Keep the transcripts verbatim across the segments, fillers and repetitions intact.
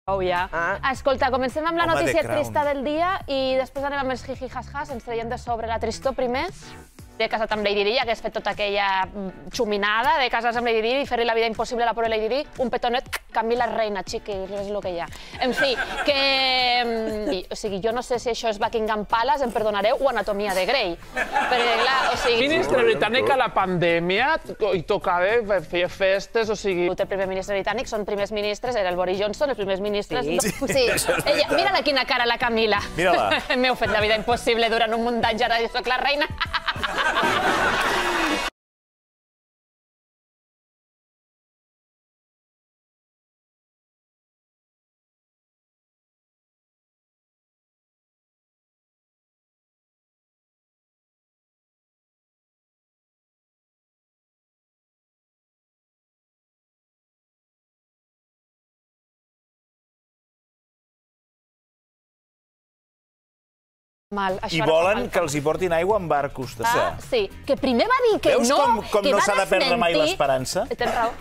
Oh, ja. Ah. Escolta, comencem amb la Home, notícia The Crown. trista del dia i després anem amb els jiji-has-has, ens traiem de sobre la tristor primer. De casat amb Lady Di, ja que has fet tota aquella xuminada de casar-se amb Lady Di i fer-li la vida impossible a la pobra Lady Di, un petonet, Camila Reina, xiqui, és el que hi ha. En fi, que... O sigui, jo no sé si això és Buckingham Palace, em perdonareu, o Anatomia de Grey. Perquè, clar, o sigui... Ministre britànic a la pandèmia i tocava fer festes, o sigui... El primer ministre britànic són primers ministres, era el Boris Johnson, els primers ministres... Sí. Sí. Ella, mira-la quina cara, la Camila. Mira-la. M'heu fet la vida impossible durant un munt d'anys, ara jo soc la reina. Mal, I volen que els hi portin aigua en barcos de Ah, sa. sí, que primer va dir que Veus no, com, com que no va s'ha de perdre mai desmentir. l'esperança? Tens raó.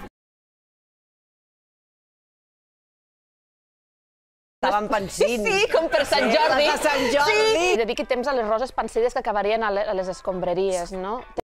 Estaven pensint. Sí, com per Sant Sí, Jordi. les de Sant Jordi. Sí. Dediqui temps a les roses pansides que acabarien a les escombraries, no?